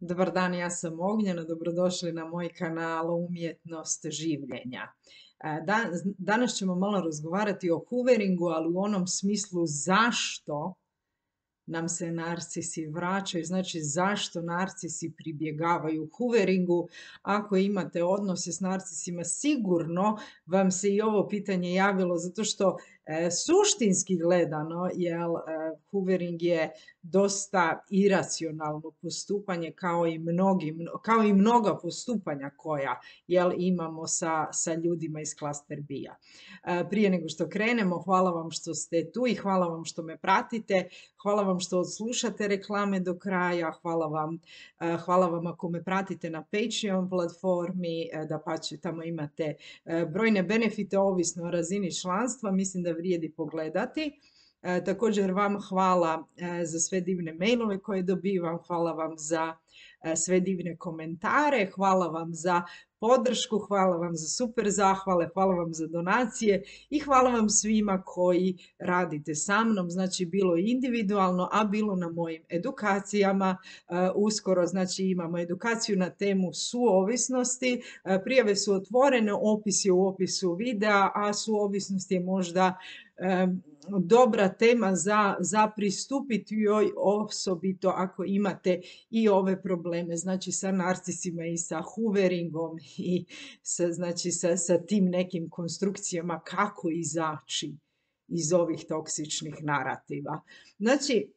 Dobar dan, ja sam Ognjena, dobrodošli na moj kanal Umjetnost življenja. Danas ćemo malo razgovarati o hooveringu, ali u onom smislu zašto nam se narcisi vraćaju, znači zašto narcisi pribjegavaju hooveringu. Ako imate odnose s narcisima, sigurno vam se i ovo pitanje javilo, zato što suštinski gledano, hoovering je dosta iracionalno postupanje kao i mnoga postupanja koja imamo sa ljudima iz klaster B-a. Prije nego što krenemo, hvala vam što ste tu i hvala vam što me pratite. Hvala vam što slušate reklame do kraja, hvala vam ako me pratite na Patreon platformi, dapače tamo imate brojne benefite ovisno o razini članstva, mislim da vrijedi pogledati. Također vam hvala za sve divne mailove koje dobivam, hvala vam za sve divne komentare, hvala vam za podršku, hvala vam za super zahvale, hvala vam za donacije i hvala vam svima koji radite sa mnom, znači bilo individualno, a bilo na mojim edukacijama. Uskoro znači imamo edukaciju na temu suovisnosti, prijave su otvorene, opis je u opisu videa, a suovisnost je možda dobra tema za pristupiti joj, osobito ako imate i ove probleme, znači sa narcisima i sa hooveringom i sa tim nekim konstrukcijama kako izaći iz ovih toksičnih narativa. Znači,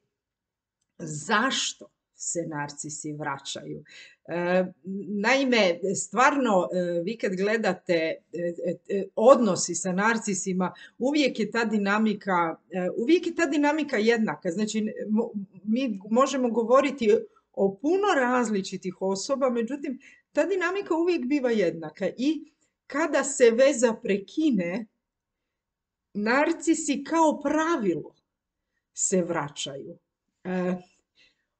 zašto se narcisi vraćaju? Naime, stvarno, vi kad gledate odnosi sa narcisima, uvijek je ta dinamika jednaka. Znači, mi možemo govoriti o puno različitih osoba, međutim, ta dinamika uvijek biva jednaka. I kada se veza prekine, narcisi kao pravilo se vraćaju.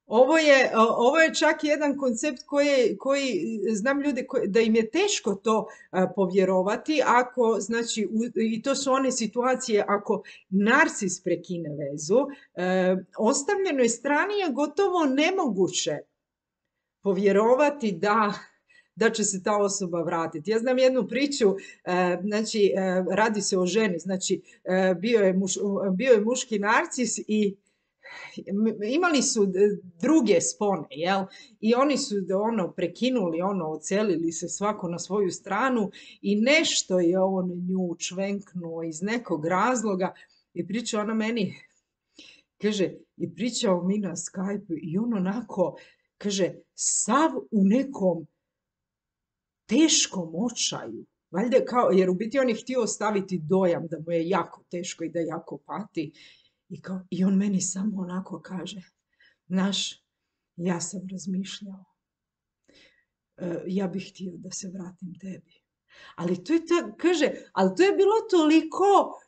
Ovo je čak jedan koncept koji znam ljude da im je teško to povjerovati, ako, znači, i to su one situacije ako narcis prekine vezu, ostavljenoj strani je gotovo nemoguće povjerovati da će se ta osoba vratiti. Ja znam jednu priču, znači, radi se o ženi, znači, bio je muški narcis i imali su druge spone, i oni su prekinuli, odselili se svako na svoju stranu i nešto je on nju čvenknuo iz nekog razloga i priča ona meni, kaže, i pričao mi na Skype i on onako, kaže, sav u nekom teškom očaju, valjda jer u biti on je htio ostaviti dojam da mu je jako teško i da jako pati. I on meni samo onako kaže, znaš, ja sam razmišljao, ja bih htio da se vratim tebi. Ali to je bilo toliko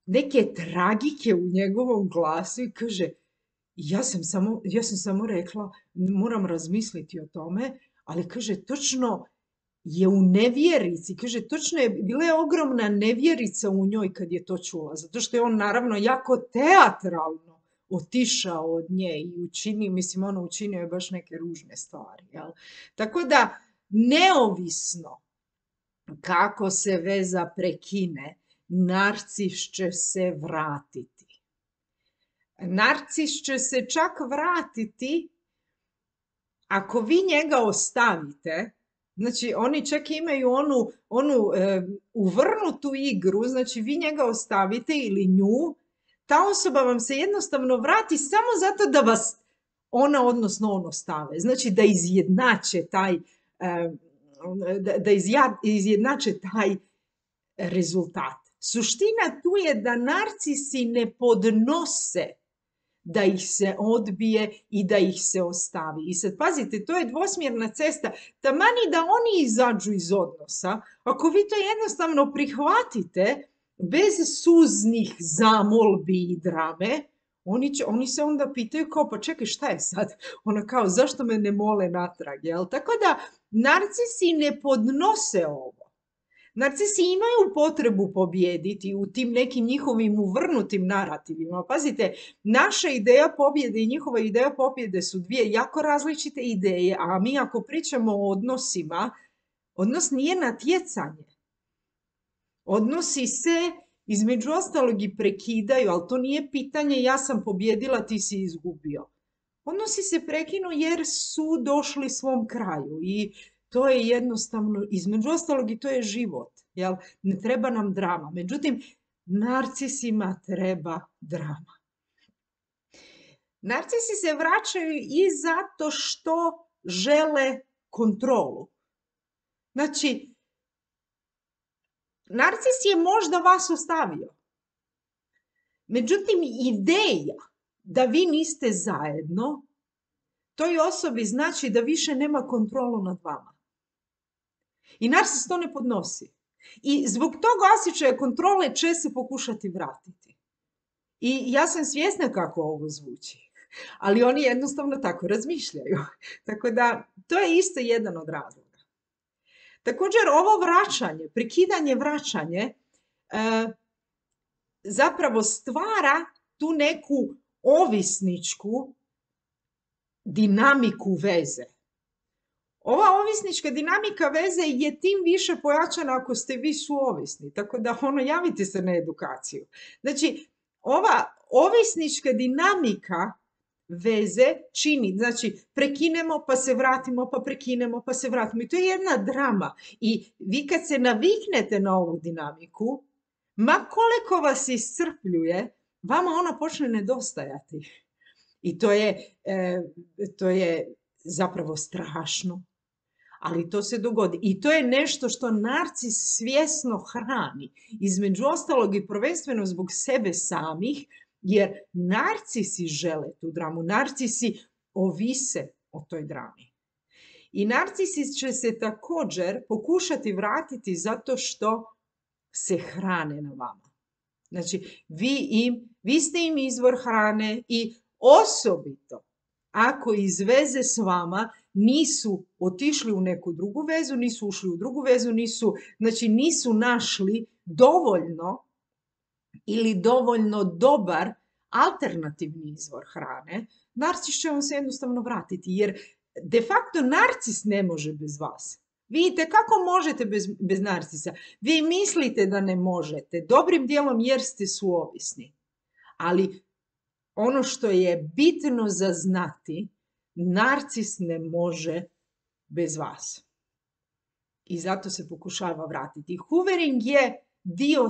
neke tragike u njegovom glasu i kaže, ja sam samo rekla, moram razmisliti o tome, ali kaže, točno je u nevjerici, kaže, točno je, bila je ogromna nevjerica u njoj kad je to čula, zato što je on naravno jako teatralno otišao od nje i učinio je baš neke ružne stvari. Tako da, neovisno kako se veza prekine, narcis će se vratiti. Narcis će se čak vratiti ako vi njega ostavite. Znači, oni čak imaju onu uvrnutu igru, znači vi njega ostavite ili nju, ta osoba vam se jednostavno vrati samo zato da vas on ostave. Znači, da izjednače taj rezultat. Suština tu je da narcisi ne podnose da ih se odbije i da ih se ostavi. I sad pazite, to je dvosmjerna cesta. Taman i da oni izađu iz odnosa, ako vi to jednostavno prihvatite bez suznih zamolbi i drame, oni se onda pitaju kao, pa čekaj, šta je sad? Kao, zašto me ne mole natrag? Tako da, narcisi ne podnose ovo. Narcisi imaju potrebu pobijediti u tim nekim njihovim uvrnutim narativima. Pazite, naša ideja pobjede i njihova ideja pobjede su dvije jako različite ideje, a mi ako pričamo o odnosima, odnos nije natjecanje. Odnosi se između ostalog i prekidaju, ali to nije pitanje ja sam pobjedila, ti si izgubio. Odnosi se prekinu jer su došli svom kraju i to je jednostavno, između ostalog i to je život. Jel? Ne treba nam drama. Međutim, narcisima treba drama. Narcisi se vraćaju i zato što žele kontrolu. Znači, narcis je možda vas ostavio. Međutim, ideja da vi niste zajedno, toj osobi znači da više nema kontrolu nad vama. I narcis to ne podnosi. I zbog toga osjećaja kontrole će se pokušati vratiti. I ja sam svjesna kako ovo zvuči. Ali oni jednostavno tako razmišljaju. Tako da, to je isto jedan od razloga. Također, ovo vraćanje, prekidanje vraćanje, zapravo stvara tu neku ovisničku dinamiku veze. Ova ovisnička dinamika veze je tim više pojačana ako ste vi suovisni. Tako da javite se na edukaciju. Znači, ova ovisnička dinamika veze čini, znači prekinemo pa se vratimo, pa prekinemo pa se vratimo. I to je jedna drama. I vi kad se naviknete na ovu dinamiku, ma koliko vas iscrpljuje, vama ona počne nedostajati. I to je zapravo strašno. Ali to se dogodi. I to je nešto što narcis svjesno hrani. Između ostalog i prvenstveno zbog sebe samih, jer narcisi žele tu dramu. Narcisi ovise o toj drami. I narcisi će se također pokušati vratiti zato što se hrane na vama. Znači, vi ste im izvor hrane i osobito ako iz veze s vama nisu otišli u neku drugu vezu, nisu ušli u drugu vezu, nisu našli dovoljno ili dovoljno dobar alternativni izvor hrane, narcis će vam se jednostavno vratiti, jer de facto narcis ne može bez vas. Vidite kako možete bez narcisa. Vi mislite da ne možete, dobrim dijelom jer ste suovisni. Ali ono što je bitno za znati, narcis ne može bez vas. I zato se pokušava vratiti. Hoovering je dio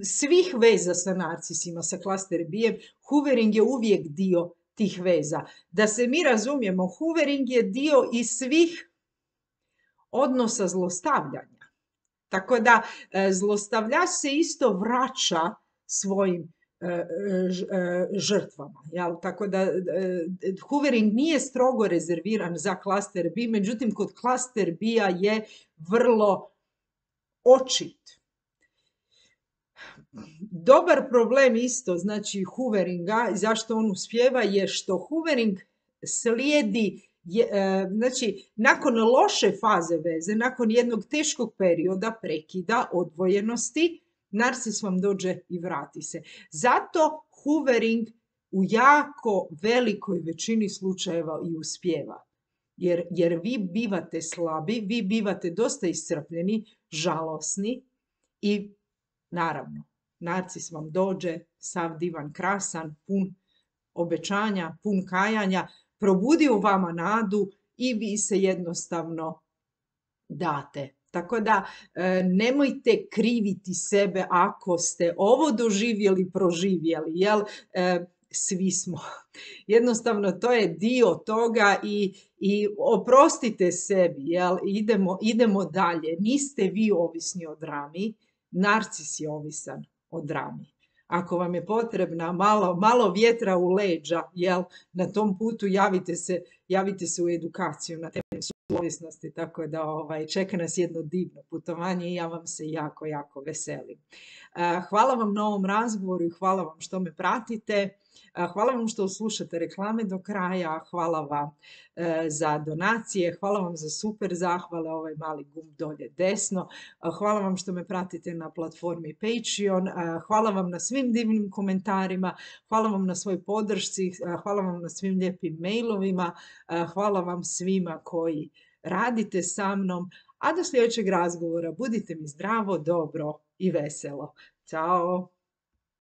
svih veza sa narcisima, sa klaster B-em. Hoovering je uvijek dio tih veza. Da se mi razumijemo, hoovering je dio i svih odnosa zlostavljanja. Tako da zlostavljač se isto vraća svojim žrtvama. Jel? Tako da hoovering nije strogo rezerviran za klaster B, međutim kod klaster B-a je vrlo očit. Dobar problem isto, znači hooveringa, zašto on uspijeva, je što hoovering slijedi, znači nakon loše faze veze, nakon jednog teškog perioda prekida, odvojenosti, narcis vam dođe i vrati se. Zato hoovering u jako velikoj većini slučajeva i uspijeva. Jer vi bivate slabi, vi bivate dosta iscrpljeni, žalosni i naravno, narcis vam dođe sav divan, krasan, pun obećanja, pun kajanja, probudi u vama nadu i vi se jednostavno date. Tako da nemojte kriviti sebe ako ste ovo doživjeli, proživjeli, jel? Svi smo. Jednostavno to je dio toga i oprostite sebi, jel? Idemo dalje. Niste vi ovisni o drami, narcis je ovisan o drami. Ako vam je potrebna malo vjetra u leđa, jel, na tom putu javite se u edukaciju na temu suovisnosti, tako da čeka nas jedno divno putovanje i ja vam se jako, jako veselim. Hvala vam na ovom razgovoru i hvala vam što me pratite. Hvala vam što slušate reklame do kraja, hvala vam za donacije, hvala vam za super zahvale, ovaj mali gumb dolje desno, hvala vam što me pratite na platformi Patreon, hvala vam na svim divnim komentarima, hvala vam na svoj podršci, hvala vam na svim lijepim mailovima, hvala vam svima koji radite sa mnom, a do sljedećeg razgovora budite mi zdravo, dobro i veselo. Ćao!